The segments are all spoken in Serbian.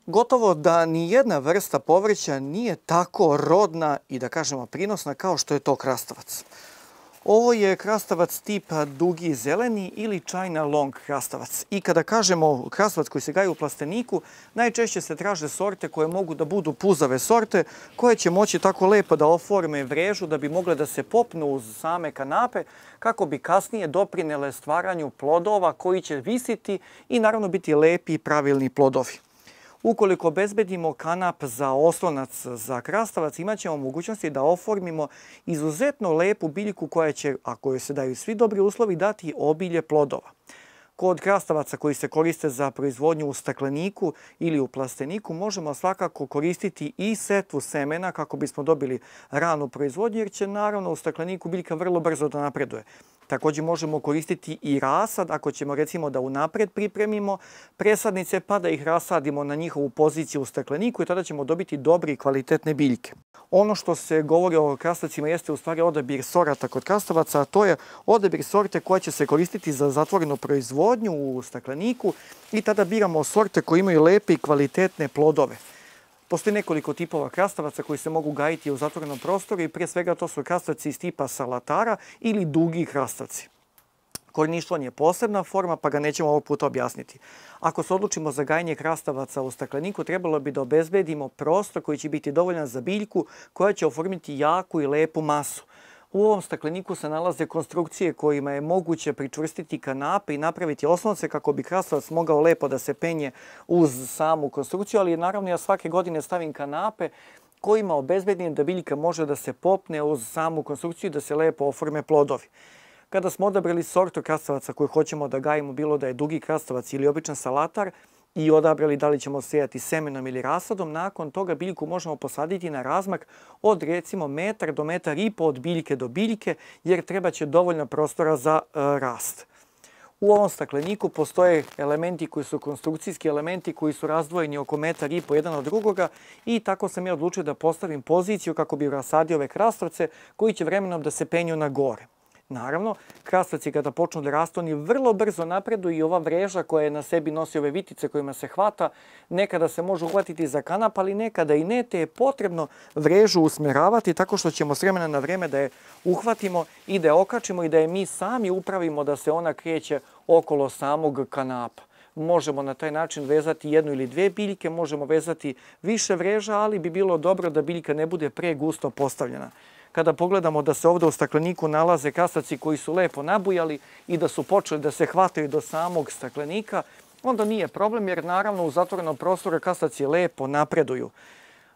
Gotovo da ni jedna vrsta povrća nije tako rodna i da kažemo prinosna kao što je to krastavac. Ovo je krastavac tipa dugi zeleni ili China long krastavac. I kada kažemo krastavac koji se gaji u plasteniku, najčešće se traže sorte koje mogu da budu puzave sorte, koje će moći tako lepo da oforme vrežu da bi mogle da se popnu uz same kanape, kako bi kasnije doprinele stvaranju plodova koji će visiti i naravno biti lepi i pravilni plodovi. Ukoliko obezbedimo kanap za oslonac za krastavac, imat ćemo mogućnosti da oformimo izuzetno lepu biljku koja će, ako joj se daju svi dobri uslovi, dati obilje plodova. Kod krastavaca koji se koriste za proizvodnju u stakleniku ili u plasteniku možemo svakako koristiti i setvu semena kako bismo dobili ranu proizvodnju, jer će naravno u stakleniku biljka vrlo brzo da napreduje. Također možemo koristiti i rasad ako ćemo recimo da unapred pripremimo presadnice pa da ih rasadimo na njihovu poziciju u stakleniku i tada ćemo dobiti dobre i kvalitetne biljke. Ono što se govori o krastavcima jeste u stvari odabir sorata kod krastavaca, a to je odabir sorte koja će se koristiti za zatvorenu proizvodnju u stakleniku i tada biramo sorte koje imaju lepe i kvalitetne plodove. Postoji nekoliko tipova krastavaca koji se mogu gajiti u zatvorenom prostoru i prije svega to su krastavci iz tipa salatara ili dugi krastavci. Korništvan je posebna forma pa ga nećemo ovog puta objasniti. Ako se odlučimo za gajanje krastavaca u stakleniku, trebalo bi da obezbedimo prostor koji će biti dovoljan za biljku koja će oformiti jaku i lepu masu. U ovom stakleniku se nalaze konstrukcije kojima je moguće pričvrstiti kanape i napraviti osnovce kako bi krastavac mogao lepo da se penje uz samu konstrukciju, ali naravno ja svake godine stavim kanape kojima obezbedim da biljka može da se popne uz samu konstrukciju i da se lepo oforme plodovi. Kada smo odabrali sortu krastavaca koju hoćemo da gajimo, bilo da je dugi krastavac ili običan salatar, i odabrali da li ćemo sejati semenom ili rasadom, nakon toga biljku možemo posaditi na razmak od recimo metar do metar i po od biljke do biljke, jer treba će dovoljno prostora za rast. U ovom stakleniku postoje elementi koji su konstrukcijski elementi koji su razdvojeni oko metar i po jedan od drugoga i tako sam ja odlučio da postavim poziciju kako bi rasadio ove krastavce koji će vremenom da se penju na gore. Naravno, krastavci kada počnu da rastu, oni vrlo brzo napreduju i ova vreža koja na sebi nosi ove vitice kojima se hvata, nekada se može uhvatiti za kanap, ali nekada i ne, te je potrebno vrežu usmeravati tako što ćemo s vremena na vreme da je uhvatimo i da je okačimo i da je mi sami upravimo da se ona kreće okolo samog kanapa. Možemo na taj način vezati jednu ili dve biljke, možemo vezati više vreža, ali bi bilo dobro da biljka ne bude pregusto postavljena. Kada pogledamo da se ovdje u stakleniku nalaze krastavci koji su lepo nabujali i da su počeli da se hvataju do samog staklenika, onda nije problem jer naravno u zatvorenom prostoru krastavci lepo napreduju.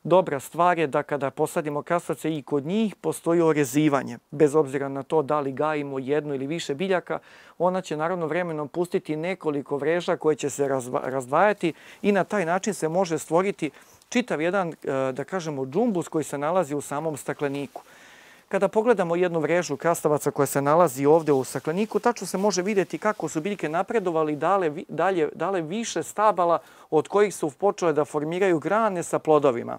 Dobra stvar je da kada posadimo krastavce i kod njih postoji orezivanje. Bez obzira na to da li gajimo jednu ili više biljaka, ona će naravno vremenom pustiti nekoliko vreža koje će se razdvajati i na taj način se može stvoriti čitav jedan, da kažemo, džumbus koji se nalazi u samom stakleniku. Kada pogledamo jednu vrežu krastavaca koja se nalazi ovdje u stakleniku, tačno se može vidjeti kako su biljke napredovali i dale više stabala od kojih su počele da formiraju grane sa plodovima.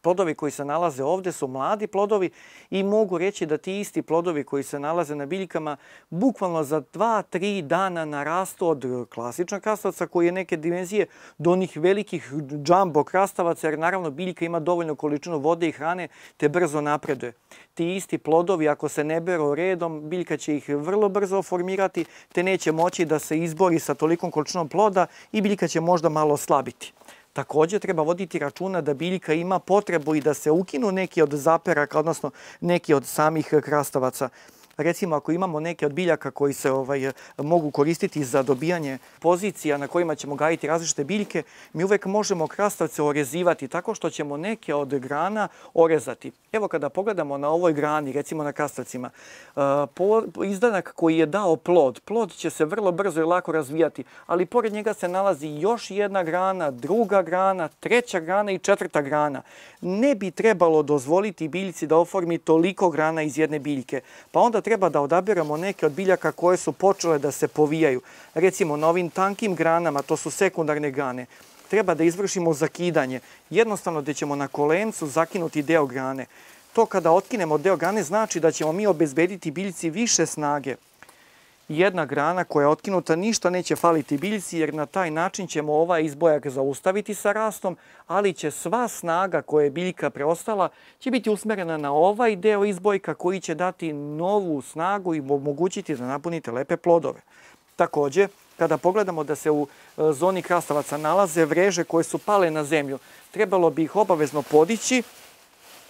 Plodovi koji se nalaze ovdje su mladi plodovi i mogu reći da ti isti plodovi koji se nalaze na biljkama bukvalno za 2-3 dana narastu od klasičnog krastavca koji je neke dimenzije do onih velikih džambo krastavaca, jer naravno biljka ima dovoljnu količinu vode i hrane te brzo napreduje. Ti isti plodovi ako se ne beru redom, biljka će ih vrlo brzo formirati te neće moći da se izbori sa tolikom količinom ploda i biljka će možda malo slabiti. Također treba voditi računa da biljka ima potrebu i da se ukinu neki od zaperaka, odnosno neki od samih krastavaca. recimo ako imamo neke od biljaka koji se mogu koristiti za dobijanje pozicija na kojima ćemo gajiti različite biljke, mi uvek možemo krastavce orezivati tako što ćemo neke od grana orezati. Evo kada pogledamo na ovoj grani, recimo na krastavcima, izdanak koji je dao plod će se vrlo brzo i lako razvijati, ali pored njega se nalazi još jedna grana, druga grana, treća grana i četvrta grana. Ne bi trebalo dozvoliti biljci da oformi toliko grana iz jedne biljke, pa onda treba da odabiramo neke od biljaka koje su počele da se povijaju. Recimo na ovim tankim granama, to su sekundarne grane, treba da izvršimo zakidanje. Jednostavno da ćemo na kolencu zakinuti deo grane. To kada otkinemo deo grane znači da ćemo mi obezbediti biljci više snage. Jedna grana koja je otkinuta ništa neće faliti biljci jer na taj način ćemo ovaj izbojak zaustaviti sa rastom, ali će sva snaga koja je biljka preostala će biti usmerena na ovaj deo izbojka koji će dati novu snagu i omogućiti da napunite lepe plodove. Također, kada pogledamo da se u zoni krastavaca nalaze vreže koje su pale na zemlju, trebalo bi ih obavezno podići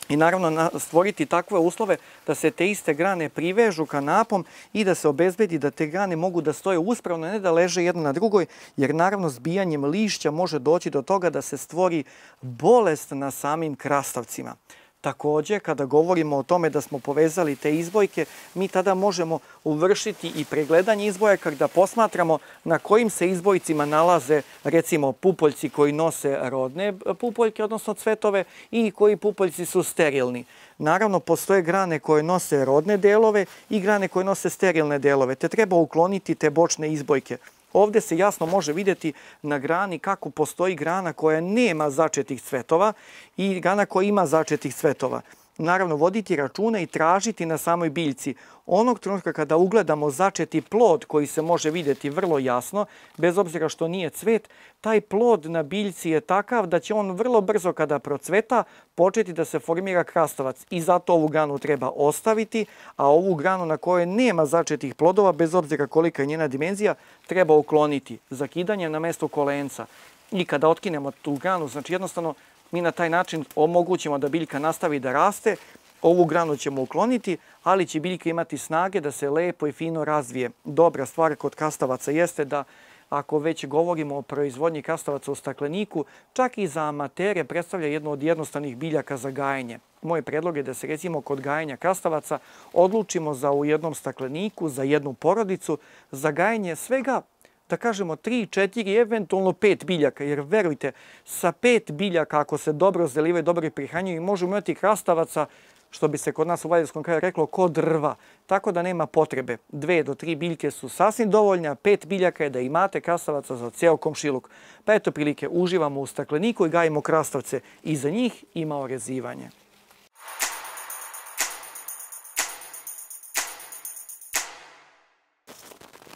i naravno stvoriti takve uslove da se te iste grane privežu kanapom i da se obezbedi da te grane mogu da stoje uspravno, ne da leže jedna na drugoj, jer naravno zbijanjem lišća može doći do toga da se stvori bolest na samim krastavcima. Također, kada govorimo o tome da smo povezali te izbojke, mi tada možemo uvršiti i pregledanje izbojaka da posmatramo na kojim se izbojcima nalaze recimo pupoljci koji nose rodne pupoljke, odnosno cvetove, i koji pupoljci su sterilni. Naravno, postoje grane koje nose rodne delove i grane koje nose sterilne delove, te treba ukloniti te bočne izbojke. Ovdje se jasno može vidjeti na grani kako postoji grana koja nema začetih cvetova i grana koja ima začetih cvetova. Naravno, voditi računa i tražiti na samoj biljci. Onog trenutka kada ugledamo začeti plod koji se može vidjeti vrlo jasno, bez obzira što nije cvet, taj plod na biljci je takav da će on vrlo brzo kada procveta početi da se formira krastavac. I zato ovu granu treba ostaviti, a ovu granu na kojoj nema začetih plodova, bez obzira kolika je njena dimenzija, treba ukloniti. Zakidanje na mesto kolenca. I kada otkinemo tu granu, znači jednostavno mi na taj način omogućimo da biljka nastavi da raste, ovu granu ćemo ukloniti, ali će biljka imati snage da se lepo i fino razvije. Dobra stvar kod krastavaca jeste da ako već govorimo o proizvodnji krastavaca u stakleniku, čak i za amatere predstavlja jedno od jednostavnih biljaka za gajenje. Moj predlog je da se recimo kod gajenja krastavaca odlučimo za u jednom stakleniku, za jednu porodicu, za gajenje svega, da kažemo 3, 4, eventualno 5 biljaka, jer verujte, sa 5 biljaka ako se dobro zalivaju, dobro prihranjuju, možemo imati krastavaca, što bi se kod nas u Valjevanskom kraju reklo, ko drva. Tako da nema potrebe. 2 do 3 biljke su sasvim dovoljne, a 5 biljaka je da imate krastavaca za ceo komšiluk. Pa eto prilike, uživamo u stakleniku i gajimo krastavce. I za njih ima orezivanje.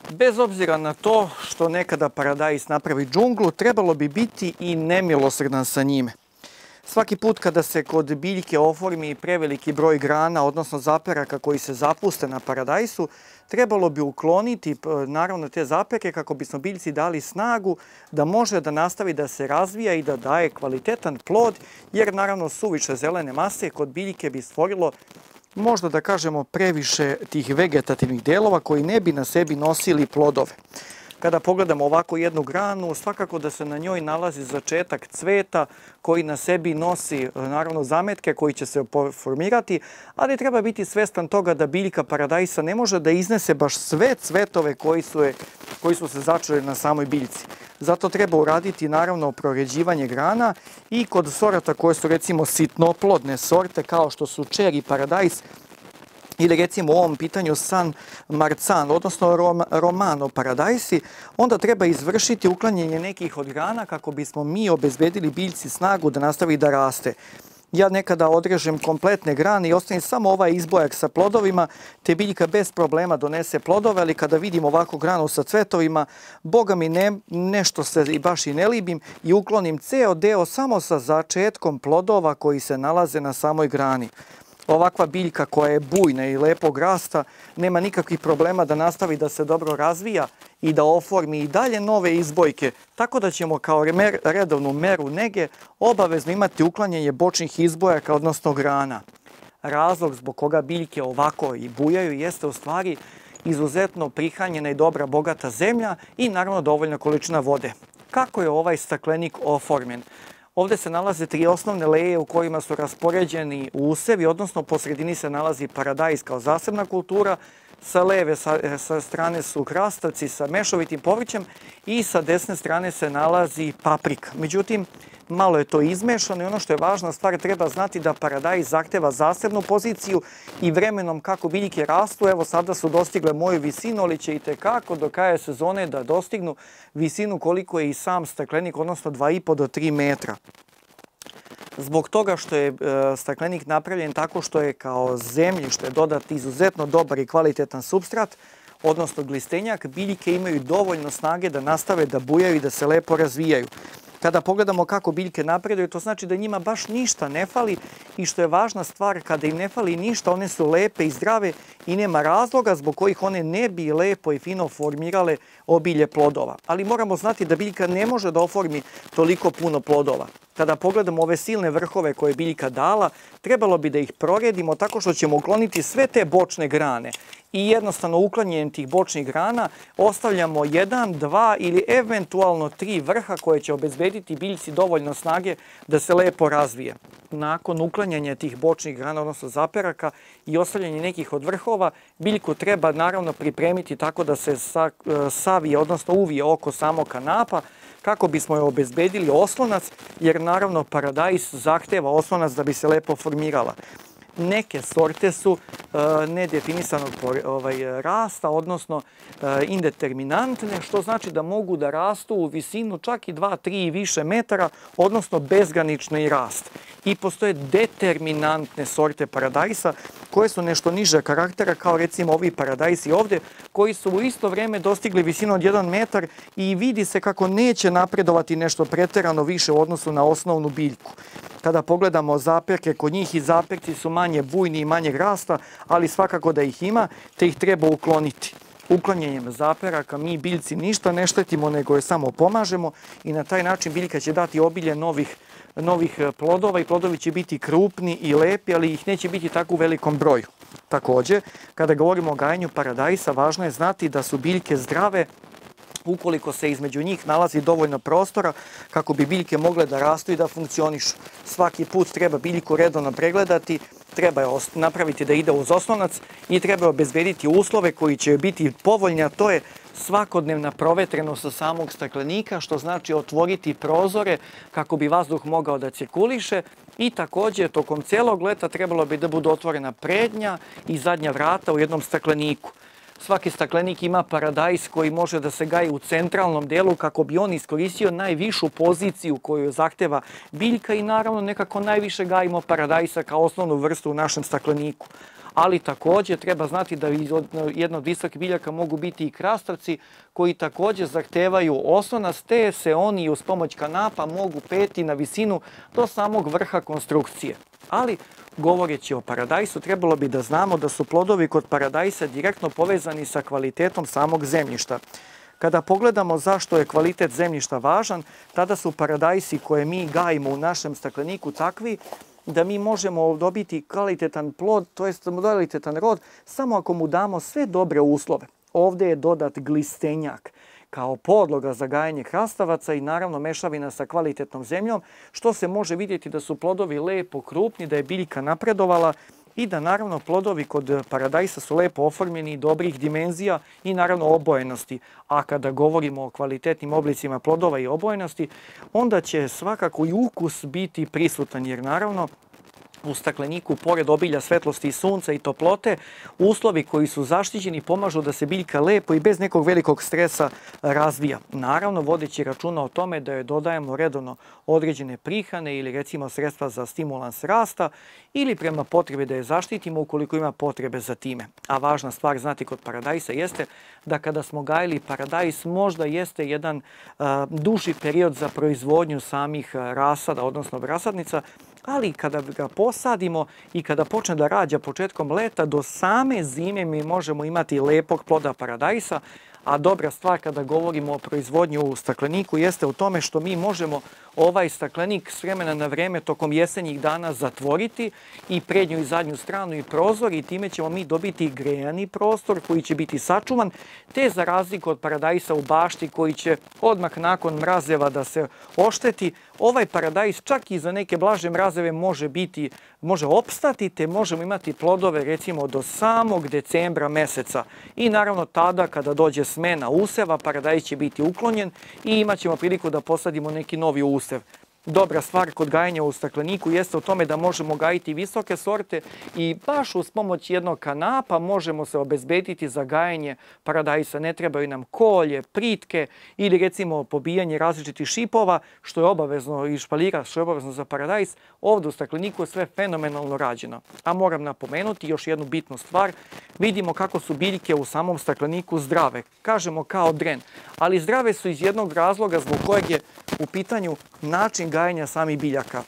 Bez obzira na to što nekada paradajz napravi džunglu, trebalo bi biti i nemilosrdan sa njime. Svaki put kada se kod biljke oformi preveliki broj grana, odnosno zaperaka koji se zapuste na paradajsu, trebalo bi ukloniti naravno te zaperke kako bismo biljci dali snagu da može da nastavi da se razvija i da daje kvalitetan plod, jer naravno suviše zelene mase kod biljke bi stvorilo možda da kažemo previše tih vegetativnih delova koji ne bi na sebi nosili plodove. Kada pogledamo ovako jednu granu, svakako da se na njoj nalazi začetak cveta koji na sebi nosi naravno zametke koji će se formirati, ali treba biti svestan toga da biljka paradajsa ne može da iznese baš sve cvetove koji su se začeli na samoj biljci. Zato treba uraditi naravno proređivanje grana i kod sorata koje su recimo sitnoplodne sorte kao što su čeri paradajs, ili recimo u ovom pitanju San Marzano, odnosno Romano paradajsi, onda treba izvršiti uklanjanje nekih od grana kako bismo mi obezbedili biljci snagu da nastavi da raste. Ja nekada odrežem kompletne grane i ostavim samo ovaj izbojak sa plodovima, te biljka bez problema donese plodove, ali kada vidim ovako granu sa cvetovima, boga mi nešto se baš i ne libim i uklonim ceo deo samo sa začetkom plodova koji se nalaze na samoj grani. Ovakva biljka koja je bujna i lepog rasta nema nikakvih problema da nastavi da se dobro razvija i da oformi i dalje nove izbojke, tako da ćemo kao redovnu meru nege obavezno imati uklanjanje bočnih izbojaka, odnosno grana. razlog zbog koga biljke ovako i bujaju jeste u stvari izuzetno prihranjena i dobra bogata zemlja i naravno dovoljna količina vode. Kako je ovaj staklenik oformljen? Ovdje se nalaze 3 osnovne leje u kojima su raspoređeni usevi, odnosno po sredini se nalazi paradajz kao zasebna kultura, sa leve sa strane su krastavci sa mešovitim povrćem i sa desne strane se nalazi paprika. Međutim, malo je to izmešano i ono što je važna stvar, treba znati da paradajz zahteva zasebnu poziciju i vremenom kako biljke rastu, evo sada su dostigle moju visinu, ali će itekako do kraja sezone da dostignu visinu koliko je i sam staklenik, odnosno 2,5 do 3 metra. Zbog toga što je staklenik napravljen tako što je kao zemljište dodat izuzetno dobar i kvalitetan supstrat, odnosno glistenjak, biljke imaju dovoljno snage da nastave da bujaju i da se lepo razvijaju. Kada pogledamo kako biljke napreduju, to znači da njima baš ništa ne fali i što je važna stvar, kada im ne fali ništa, one su lepe i zdrave i nema razloga zbog kojih one ne bi lepo i fino formirale obilje plodova. Ali moramo znati da biljka ne može da oformi toliko puno plodova. Kada pogledamo ove silne vrhove koje je biljka dala, trebalo bi da ih proredimo tako što ćemo ukloniti sve te bočne grane. I jednostavno uklanjanjem tih bočnih grana ostavljamo 1, 2 ili eventualno 3 vrha koje će obezbediti biljci dovoljno snage da se lepo razvije. Nakon uklanjanja tih bočnih grana, odnosno zaperaka i ostavljanja nekih od vrhova, biljku treba naravno pripremiti tako da se savije, odnosno uvije oko samog kanapa, kako bismo je obezbedili oslonac, jer naravno paradajz zahteva oslonac da bi se lepo formirala. Neke sorte su nedefinisanog rasta, odnosno indeterminantne, što znači da mogu da rastu u visinu čak i 2, 3 i više metara, odnosno bezgranični rast. I postoje determinantne sorte paradajsa koje su nešto niže karaktera, kao recimo ovi paradajsi ovdje, koji su u isto vrijeme dostigli visinu od 1 metar i vidi se kako neće napredovati nešto preterano više u odnosu na osnovnu biljku. Kada pogledamo zaperke kod njih, i zaperci su manje bujni i manjeg rasta, ali svakako da ih ima, te ih treba ukloniti. Uklanjanjem zaperaka mi biljci ništa ne štetimo, nego je samo pomažemo i na taj način biljka će dati obilje novih plodova i plodovi će biti krupni i lepi, ali ih neće biti tako u velikom broju. Također, kada govorimo o gajenju paradajsa, važno je znati da su biljke zdrave ukoliko se između njih nalazi dovoljno prostora kako bi biljke mogle da rastu i da funkcionišu. Svaki put treba biljku redovno pregledati, treba je napraviti da ide uz oslonac i treba obezbediti uslove koji će biti povoljni, a to je svakodnevna provetrenost sa samog staklenika, što znači otvoriti prozore kako bi vazduh mogao da cirkuliše i također tokom cijelog leta trebalo bi da budu otvorena prednja i zadnja vrata u jednom stakleniku. Svaki staklenik ima paradajz koji može da se gaji u centralnom delu kako bi on iskoristio najvišu poziciju koju zahteva biljka i naravno nekako najviše gajimo paradajsa kao osnovnu vrstu u našem stakleniku. Ali također treba znati da jedna od visokih biljaka mogu biti i krastavci koji također zahtevaju oslonac, te se oni uz pomoć kanapa mogu peti na visinu do samog vrha konstrukcije. Ali, govoreći o paradajsu, trebalo bi da znamo da su plodovi kod paradajsa direktno povezani sa kvalitetom samog zemljišta. Kada pogledamo zašto je kvalitet zemljišta važan, tada su paradajsi koje mi gajimo u našem stakleniku takvi da mi možemo dobiti kvalitetan plod, to jest kvalitetan rod, samo ako mu damo sve dobre uslove. Ovdje je dodat glistenjak kao podloga za gajanje krastavaca i naravno mešavina sa kvalitetnom zemljom, što se može vidjeti da su plodovi lepo krupni, da je biljka napredovala i da naravno plodovi kod paradajsa su lepo oformljeni, dobrih dimenzija i naravno obojenosti. A kada govorimo o kvalitetnim oblicima plodova i obojenosti, onda će svakako i ukus biti prisutan, jer naravno u stakleniku, pored obilja svetlosti i sunca i toplote, uslovi koji su zaštićeni pomažu da se biljka lepo i bez nekog velikog stresa razvija. Naravno, vodeći računa o tome da joj dodajemo redovno određene prihrane ili recimo sredstva za stimulans rasta ili prema potrebi da je zaštitimo ukoliko ima potrebe za time. A važna stvar znati kod paradajsa jeste da kada smo gajili paradajs možda jeste jedan duži period za proizvodnju samih rasada, odnosno rasadnica, ali kada ga posadimo i kada počne da rađa početkom leta, do same zime mi možemo imati lepog ploda paradajsa, A dobra stvar kada govorimo o proizvodnji u stakleniku jeste u tome što mi možemo ovaj staklenik s vremena na vreme tokom jesenjih dana zatvoriti i prednju i zadnju stranu i prozor i time ćemo mi dobiti grejani prostor koji će biti sačuvan, te za razliku od paradajsa u bašti koji će odmah nakon mrazeva da se ošteti, ovaj paradajs čak i za neke blaže mrazeve može opstati, te možemo imati plodove recimo do samog decembra meseca. I naravno tada kada dođe smena useva, paradajs će biti uklonjen i imat ćemo priliku da posadimo neki novi usev. Dobra stvar kod gajanja u stakleniku jeste u tome da možemo gajiti visoke sorte i baš uz pomoć jednog kanapa možemo se obezbediti za gajanje paradajsa. Ne trebaju nam kolje, pritke ili recimo pobijanje različitih šipova, što je obavezno, i špaljira, što je obavezno za paradajs. Ovdje u stakleniku je sve fenomenalno rađeno. A moram napomenuti još jednu bitnu stvar. Vidimo kako su biljke u samom stakleniku zdrave. Kažemo kao dren, ali zdrave su iz jednog razloga zbog kojeg je u pitanju način gajanja samih biljaka.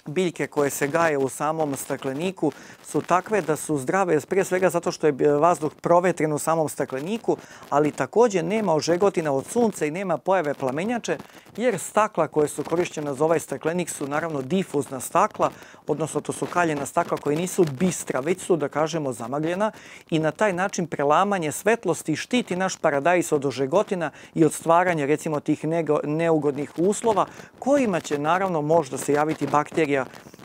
Biljke koje se gaje u samom stakleniku su takve da su zdrave, prije svega zato što je vazduh provetren u samom stakleniku, ali također nema ožegotina od sunca i nema pojave plamenjače, jer stakla koje su korišćena za ovaj staklenik su naravno difuzna stakla, odnosno to su kaljena stakla koje nisu bistra, već su, da kažemo, zamagljena i na taj način prelamanje svetlosti štiti naš paradajs od ožegotina i od stvaranja recimo tih neugodnih uslova kojima će naravno možda se javiti bakterija,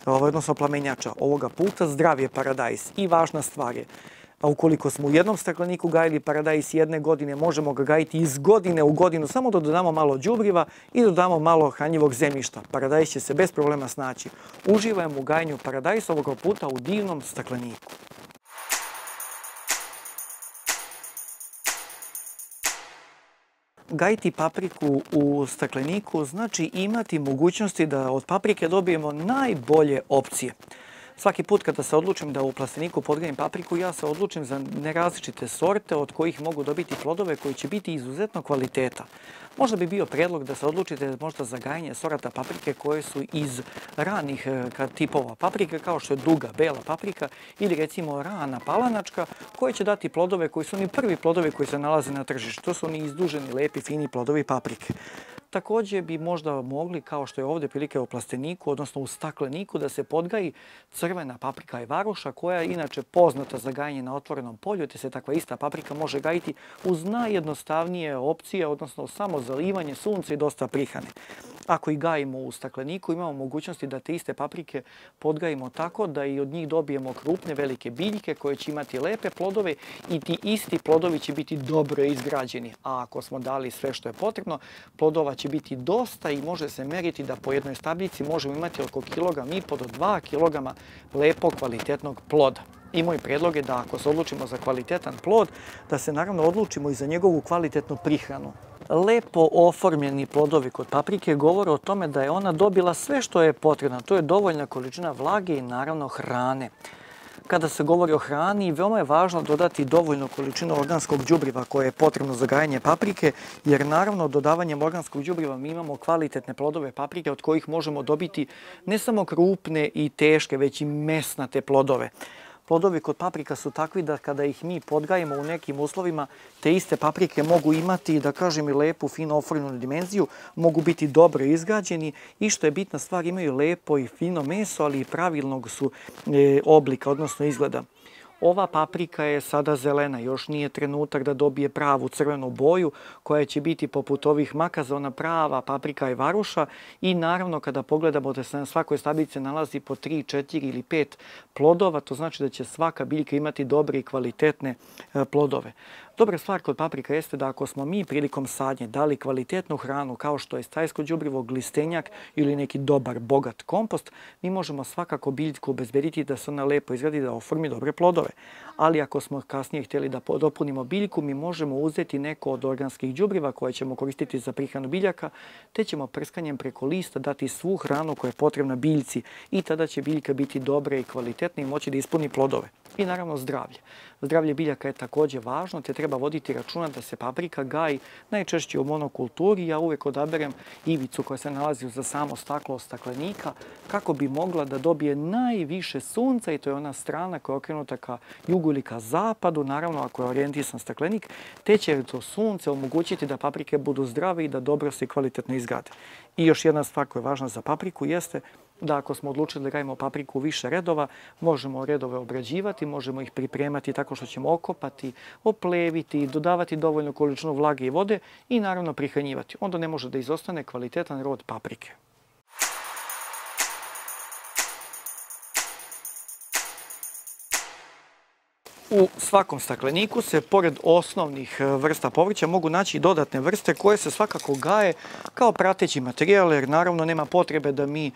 odnosno plamenjača. Ovoga puta zdrav je paradajs i važna stvar je. A ukoliko smo u jednom stakleniku gajili paradajs jedne godine, možemo ga gajiti iz godine u godinu, samo da dodamo malo đubriva i dodamo malo hranjivog zemljišta. Paradajs će se bez problema snaći. Uživam u gajanju paradajsa ovoga puta u divnom stakleniku. Gajiti papriku u stakleniku znači imati mogućnosti da od paprike dobijemo najbolje opcije. Svaki put kada se odlučim da u plasteniku podgajim papriku, ja se odlučim za nerazličite sorte od kojih mogu dobiti plodove koji će biti izuzetno kvaliteta. Možda bi bio predlog da se odlučite možda za gajanje sorata paprike koje su iz ranih tipova paprike, kao što je duga, bela paprika ili recimo rana palanačka, koje će dati plodove koji su oni prvi plodovi koji se nalaze na tržištu. To su oni izduženi, lepi, fini plodovi paprike. Također bi možda mogli, kao što je ovdje prilike u plasteniku, odnosno u stakleniku, da se podgaji crvena paprika i varoša, koja je inače poznata za gajanje na otvorenom polju, te se takva ista paprika može gajiti uz najjednostavnije opcije, odnosno samo zalivanje, sunce i dosta prihrane. Ako ih gajimo u stakleniku, imamo mogućnosti da te iste paprike podgajimo tako da i od njih dobijemo krupne, velike biljke koje će imati lepe plodove i ti isti plodovi će biti dobro izgrađeni. A ako smo dali sve što je potrebno, plodova će biti dosta i može se meriti da po jednoj stabljici možemo imati oko 1,5 do 2 kg lepog, kvalitetnog ploda. I moj predlog je da ako se odlučimo za kvalitetan plod, da se naravno odlučimo i za njegovu kvalitetnu prihranu. Lepo oformljeni plodovi kod paprike govore o tome da je ona dobila sve što je potrebno. To je dovoljna količina vlage i naravno hrane. Kada se govori o hrani, veoma je važno dodati dovoljnu količinu organskog đubriva koje je potrebno za gajanje paprike, jer naravno dodavanjem organskog đubriva mi imamo kvalitetne plodove paprike od kojih možemo dobiti ne samo krupne i teške, već i mesnate plodove. Plodovi kod paprika su takvi da kada ih mi podgajimo u nekim uslovima, te iste paprike mogu imati, da kažem, i lepu, fino oformljenu dimenziju, mogu biti dobro izgrađeni i što je bitna stvar, imaju lepo i fino meso, ali i pravilnog su oblika, odnosno izgleda. Ova paprika je sada zelena, još nije trenutak da dobije pravu crvenu boju koja će biti poput ovih makaza, ona prava paprika i varuša i naravno kada pogledamo da se na svakoj stabljici nalazi po 3, 4 ili 5 plodova, to znači da će svaka biljka imati dobre i kvalitetne plodove. Dobra stvar kod paprika jeste da ako smo mi prilikom sadnje dali kvalitetnu hranu kao što je stajsko đubrivo, glistenjak ili neki dobar, bogat kompost, mi možemo svakako biljku obezbediti da se ona lepo izgradi, da oformi dobre plodove. Ali ako smo kasnije htjeli da dopunimo biljku, mi možemo uzeti neko od organskih đubriva koje ćemo koristiti za prihranu biljaka, te ćemo prskanjem preko lista dati svu hranu koja je potrebna biljci i tada će biljka biti dobra i kvalitetna i moći da ispuni plodove. I naravno zdravlje. Zdravlje biljaka je također važno, te treba voditi računa da se paprika gaji najčešće u monokulturi. Ja uvijek odaberem ivicu koja se nalazi za samo staklo staklenika kako bi mogla da dobije najviše sunca i to je ona strana koja je okrenuta ka jugu ili ka zapadu, naravno ako je orijentisan staklenik, te će to sunce omogućiti da paprike budu zdrave i da dobro se i kvalitetno izgrade. I još jedna stvar koja je važna za papriku jeste da ako smo odlučili da gajimo papriku u više redova, možemo redove obrađivati, možemo ih pripremati tako što ćemo okopati, opleviti, dodavati dovoljnu količinu vlage i vode i naravno prihranjivati. Onda ne može da izostane kvalitetan rod paprike. U svakom stakleniku se, pored osnovnih vrsta povrća, mogu naći dodatne vrste koje se svakako gaje kao prateći materijal, jer naravno nema potrebe da mi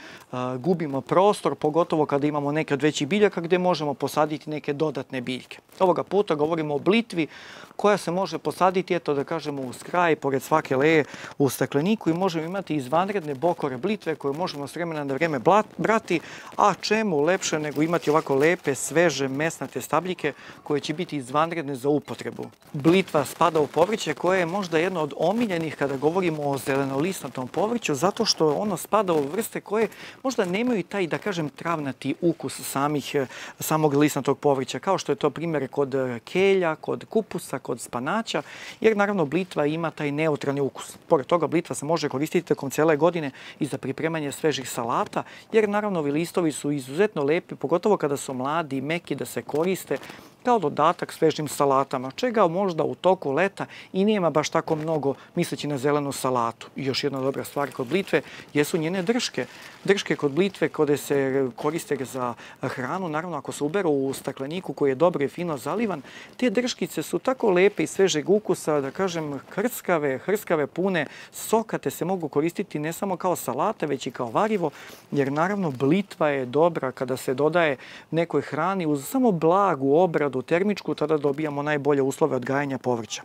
gubimo prostor, pogotovo kada imamo neke od većih biljaka gdje možemo posaditi neke dodatne biljke. Ovoga puta govorimo o blitvi koja se može posaditi, eto da kažemo, uz kraj, pored svake leje u stakleniku i možemo imati izvanredne bokore blitve koje možemo s vremena na vrijeme brati, a čemu lepše nego imati ovako lepe, sveže, mesnate stabljike koje će biti izvanredne za upotrebu. Blitva spada u povrće koje je možda jedno od omiljenih kada govorimo o zelenolistnatom povrću, zato što ono spada u vrste koje možda nemaju taj, da kažem, travnati ukus samog listnatog povrća, kao što je to primjer kod kelja, kod kupusa, kod spanaća, jer naravno blitva ima taj neutralni ukus. Pored toga, blitva se može koristiti tokom cijele godine i za pripremanje svežih salata, jer naravno ovi listovi su izuzetno lepi, pogotovo kada su mladi i meki da se koriste kao dodatak svežim salatama, čega možda u toku leta i nema baš tako mnogo misleći na zelenu salatu. I još jedna dobra stvar kod blitve jesu njene drške. Drške kod blitve koje se koriste za hranu, naravno ako se uberu u stakleniku koji je dobro i fino zalivan, te drškice su tako lepe i svežeg ukusa, da kažem, hrskave, pune soka, te se mogu koristiti ne samo kao salate, već i kao varivo, jer naravno blitva je dobra kada se dodaje nekoj hrani uz samo blagu obradu termičku, tada dobijamo najbolje uslove odgajanja povrća.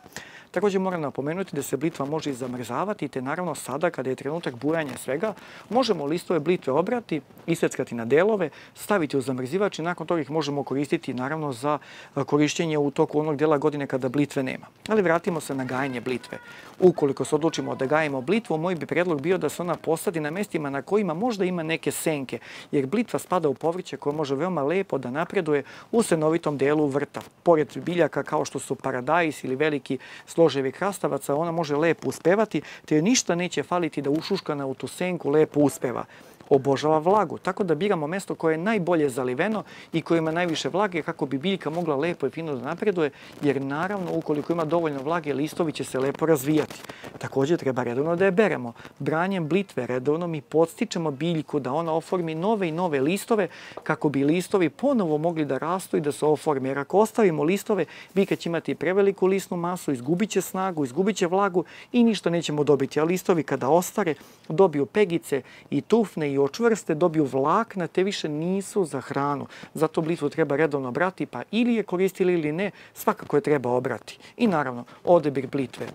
Također moram napomenuti da se blitva može i zamrzavati, te naravno sada kada je trenutak bujanja svega, možemo listove blitve obrati, isveckati na delove, staviti u zamrzivač i nakon toga ih možemo koristiti naravno za korištenje u toku onog dela godine kada blitve nema. Ali vratimo se na gajanje blitve. Ukoliko se odlučimo da gajimo blitvu, moj bi predlog bio da se ona posadi na mestima na kojima možda ima neke senke, jer blitva spada u povrće koje može veoma lepo da napreduje u senovitom delu vrta. Pored biljaka kao što su paradajz ili veliki složevi krastavaca, ona može lepo uspevati, te joj ništa neće faliti da ušuškana u tu senku lepo uspeva. Obožava vlagu, tako da biramo mesto koje je najbolje zaliveno i koje ima najviše vlage kako bi biljka mogla lepo i fino da napreduje, jer naravno ukoliko ima dovoljno vlage, listovi će se lepo razvijati. Također treba redovno da je beremo. Branjem blitve redovno mi podstičemo biljku da ona oformi nove i nove listove kako bi listovi ponovo mogli da rastu i da se oforme. Jer ako ostavimo listove, biljka će imati preveliku listnu masu, izgubit će snagu, izgubit će vlagu i ništa nećemo dobiti. A listovi kada ostare, dobiju pegice i tufne i očvrste, dobiju vlakna, te više nisu za hranu. Zato blitvu treba redovno brati, pa ili je koristili ili ne, svakako je treba obrati. I naravno, odabir blitve.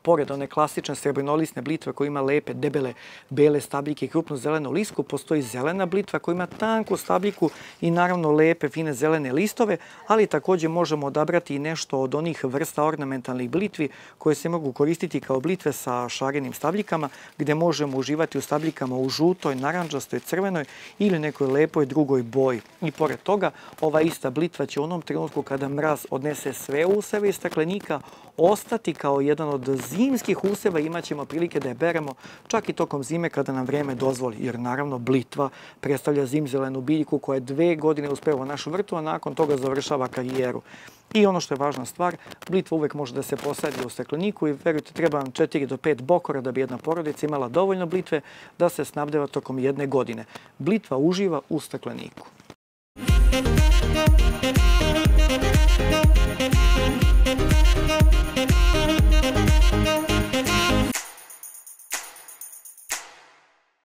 Pored one klasične srebrnolisne blitve koja ima lepe, debele, bele stabljike i krupnu zelenu lisku, postoji zelena blitva koja ima tanku stabljiku i naravno lepe, fine zelene listove, ali također možemo odabrati i nešto od onih vrsta ornamentalnih blitvi koje se mogu koristiti kao blitve sa šarenim stabljikama, gdje možemo uživati u stabljikama u žutoj, narandžastoj, crvenoj ili nekoj lepoj drugoj boji. I pored toga, ova ista blitva će u onom trenutku kada mraz odnese sve useve iz staklenika ostati kao jedan od zimskih useva, imat ćemo prilike da je beremo čak i tokom zime kada nam vrijeme dozvoli, jer naravno blitva predstavlja zimzelenu biljku koja je 2 godine uspeva u našu vrtu, a nakon toga završava karijeru. I ono što je važna stvar, blitva uvek može da se posadi u stakleniku i verujte, treba vam 4 do 5 bokora da bi jedna porodica imala dovoljno blitve da se snabdeva tokom 1 godine. Blitva uživa u stakleniku.